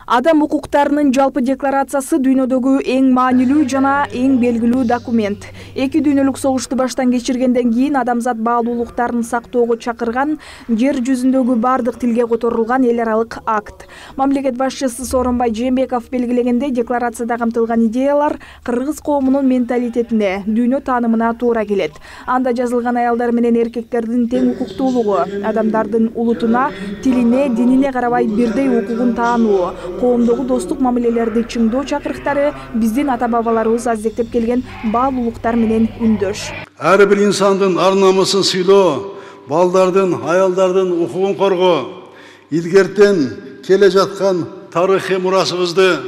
Адам укуктарынын жалпы декларациясы дүйнөдөгү эң маанилүү жана эң белгилүү документ. Эки дүйнөлүк согушту баштан кечиргенден кийин адамзат баалуулуктарын сактоого чакырган, жер жүзүндөгү бардык тилге которулган эл аралык акт. Мамлекет башчысы Сооронбай Жээнбеков белгилегенде, декларацияда камтылган идеялар кыргыз коомунун менталитетине, дүйнө таанымына туура келет. Анда жазылган аялдар менен эркектердин тең укуктуулугу, адамдардын улутуна, тилине, динине карабай бирдей укугун таануу, коомдогу достук мамилелерди чыңдоо чакырыктары биздин ата-бабаларыбыз аздектеп келген баалуулуктар менен үндөш. Ар бир инсандын ар-намысын сыйлоо, балдардын, аялдардын укугун коргоо, илгертен келе жаткан тарыхый мурасыбызды,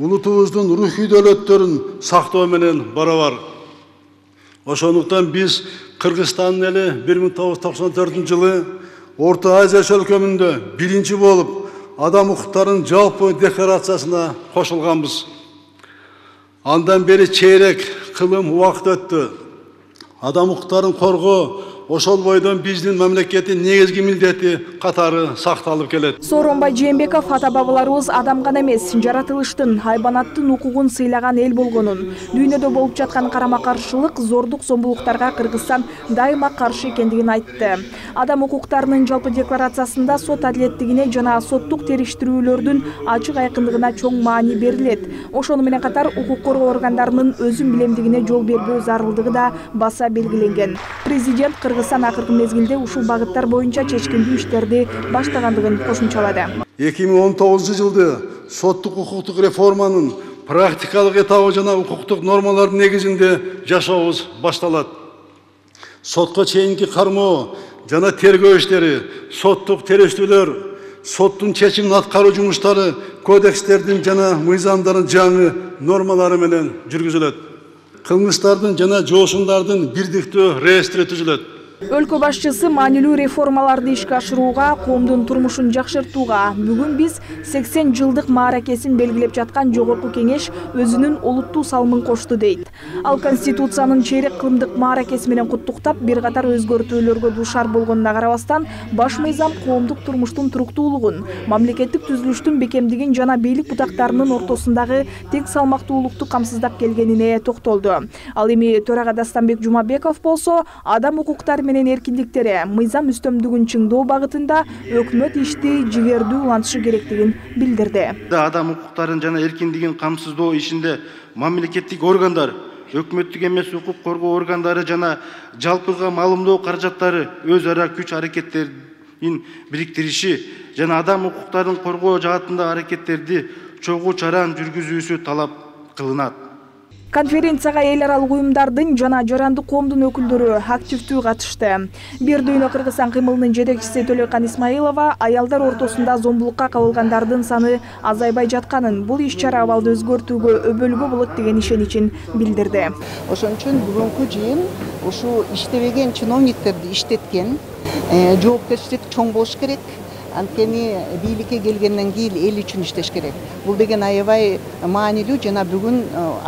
улутубуздун рухий дөөлөттөрүн сактоо менен барабар. Ошондуктан биз Кыргызстандын эли 1994 жылы Орто Азия өлкөмүндө биринчи болуп Адам укуктарынын жалпы декларациясына кошулганбыз. Андан бери чейрек кылым убакыт өттү. Адам укуктарын коргоо ошол бойдон биздин мамлекеттин негизги милдети катары сакталып келет. Сооронбай Жээнбеков ата-бабаларыбыз адам гана эмес, жаратылыштын, хайбанаттын укугун сыйлаган эл болгонун, дүйнөдө болуп жаткан карама-каршылык, зордук, зомбулуктарга Кыргызстан дайыма каршы экендигин айтты. Адам укуктарынын жалпы декларациясында сот адилеттигине жана соттук териштирүүлөрдүн ачык айкындыгына чоң маани берилет. Ошону менен катар укук коргоо органдарынын өзүн билемдигине жол бербөө зарылдыгы да баса белгиленген. Президент Кыргызстан акыркы мезгилде ушул багыттар боюнча чечкиндүү иштерди баштагандыгын кошумчалады. 2019 жылды соттук укуктук реформанын практикалык этабы жана укуктук нормалардын негизинде жашообуз башталат. Сотко чейинки кармоо жана тергөө иштери, соттук териштүүлөр, соттун чечимин аткаруу жумуштары кодекстердин жана мыйзамдардын жаңы нормалары менен жүргүзүлөт. Кылмыштардын жана жоошундардын бирдиктүү реестри түзүлөт. Өлкө башчысы маанилүү реформаларды ишке ашырууга, коомдун турмушун жакшыртууга бүгүн биз 80 жылдык мааракесин белгилеп жаткан Жогорку Кеңеш өзүнүн олуттуу салымын кошту дейт. Ал Конституциянын чейрек кылымдык мааракеси менен куттуктап, бир катар өзгөртүүлөргө дуушар болгонуна карабастан, баш мыйзам коомдук турмуштун туруктуулугун, мамлекеттик түзүлүштүн бекемдигин жана бийлик бутактарынын ортосундагы тең салмактуулукту камсыздап келгенине токтолду. Ал эми төрага Дастанбек Жумабеков болсо, адам укуктары менен эркиндиктери, мыйзам үстөмдүгүн чыңдоо багытында өкмөт ишти жигердүү улантышы керектигин билдирди. Адам укуктарын жана эркиндигин камсыздоо ишинде мамлекеттик органдар, өкмөттүк эмес укук коргоо органдары жана жалпыга маалымдоо каражаттары өз ара күч аракеттерин бириктириши жана адам укуктарын коргоо жаатындагы аракеттерди чогуу чаран жүргүзүүсү талап кылынат. Конференцияга эл аралык уюмдардын жана жарандык коомдун өкүлдөрү активдүү катышты. Бир дүйнө Кыргызстан кыймылынын жетекчиси Төлөкан Исмаилова аялдар ортосунда зомбулукка кабылгандардын саны азайбай жатканын, бул иш-чара абалды өзгөртүүгө өбөлгө болот деген ишеничин билдирди. Ошон үчүн бүгүнкү жыйын ушу иштебеген чиновниктерди иштеткен, жоопкерчилик чоң болуш керек. Анткени бийликке келгенден кийин эл үчүн иштеш керек. Бул деген аябай маанилүү жана бүгүн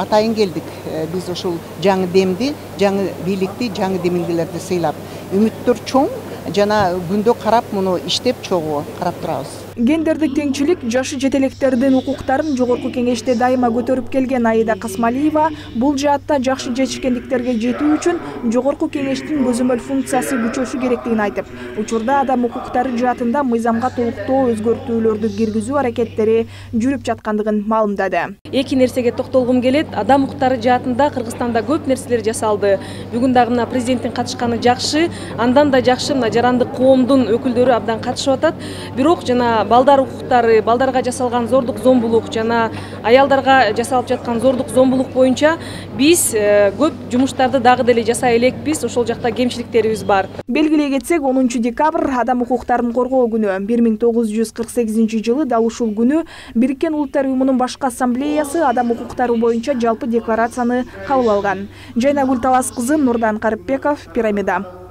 атайын келдик. Биз ушул жаңы демди, жаңы бийликти, жаңы демилгелерди сыйлап, үмүттөр чоң жана күндө карап муну иштеп чогуу карап турабыз. Гендердик теңчилик, жашы жетелектердин укуктарын Жогорку Кеңеште дайыма көтөрүп келген Аида Касмалиева бул жаатта жакшы жетишкендиктерге жетүү үчүн Жогорку Кеңештин көзөмөл функциясы күчөшү керектигин айтып, учурда адам укуктары жаатында мыйзамга толуктоо өзгөртүүлөрдү киргизүү аракеттери жүрүп жаткандыгын маалымдады. Эки нерсеге токтолгум келет. Адам укуктары жаатында Кыргызстанда көп нерселер жасалды. Бүгүн дагы мына президенттин катышканы жакшы, андан да жакшы мына жарандык коомдун өкүлдөрү абдан катышып атат. Бирок жана балдар укуктары, балдарга жасалган зордук зомбулук жана аялдарга жасалып жаткан зордук зомбулук боюнча биз көп жумуштарды дагы деле жасай элекпиз. Ошол жакта кемчиликтерибиз бар. Белгилей кетсек, 10 декабрь адам укуктарын коргоо күнү. 1948 жылы дал ушул күнү Бириккен Улуттар Уюмунун башкы ассамблеясы адам укуктары боюнча жалпы декларацияны кабыл алган. Жайнагүл Талас кызы, Нурдан Карипбеков, Пирамида.